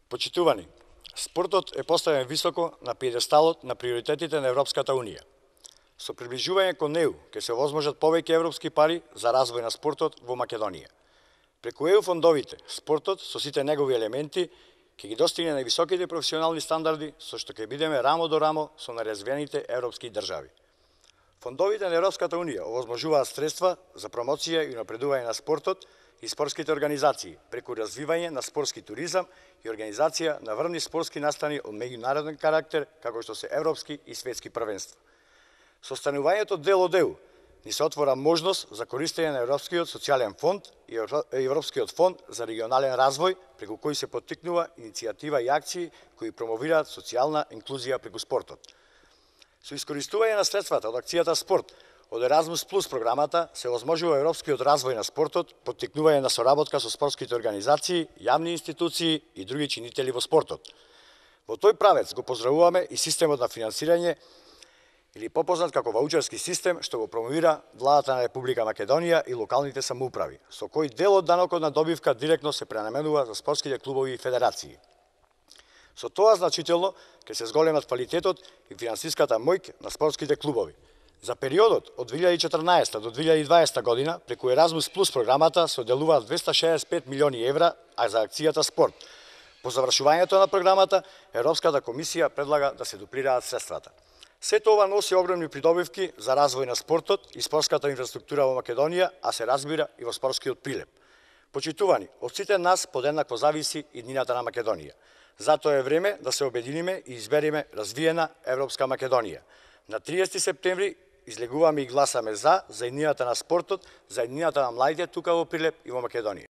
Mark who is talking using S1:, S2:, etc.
S1: Почитувани, спортот е поставен високо на пиедесталот на приоритетите на Европската Унија. Со приближување кон неу ќе се овозможат повеќе европски пари за развој на спортот во Македонија. Преку ЕУ фондовите, спортот со сите негови елементи ќе ги достигне највисоките професионални стандарди, со што ќе бидеме рамо до рамо со наразвиените европски држави. Фондовите на Европската Унија овозможуваат средства за промоција и напредување на спортот и спортските организации, преку развивање на спортски туризам и организација на врвни спортски настани од меѓународен карактер, како што се европски и светски првенства. Со станувањето дел од ЕУ ни се отвора можност за користење на Европскиот социјален фонд и Европскиот фонд за регионален развој, преку кој се поттикнува иницијатива и акции кои промовираат социјална инклузија преку спортот. Со искористување на средствата од акцијата Спорт од Еразмус Плюс програмата се овозможува европскиот развој на спортот, поттикнување на соработка со спортските организации, јавни институции и други чинители во спортот. Во тој правец го поздравуваме и системот на финансирање или попознат како ваучерски систем, што го промовира владата на Република Македонија и локалните самоуправи, со кој дел од данокот на добивка директно се пренаменува за спортските клубови и федерации. Со тоа значително ќе се зголемат квалитетот и финансиската моќ на спортските клубови. За периодот од 2014 до 2020 година преку Еразмус Плюс програмата се одделуваат 265 милиони евра, а за акцијата Спорт. По завршувањето на програмата, Европската комисија предлага да се дуплираат средствата. Сето ова носи огромни придобивки за развој на спортот и спортската инфраструктура во Македонија, а се разбира и во спортскиот прилеп. Почитувани, од сите нас подеднакво зависи иднината на Македонија. Затоа е време да се обединиме и избереме развиена Европска Македонија. На 30 септември излегуваме и гласаме за иднината на спортот, за иднината на младите тука во Прилеп и во Македонија.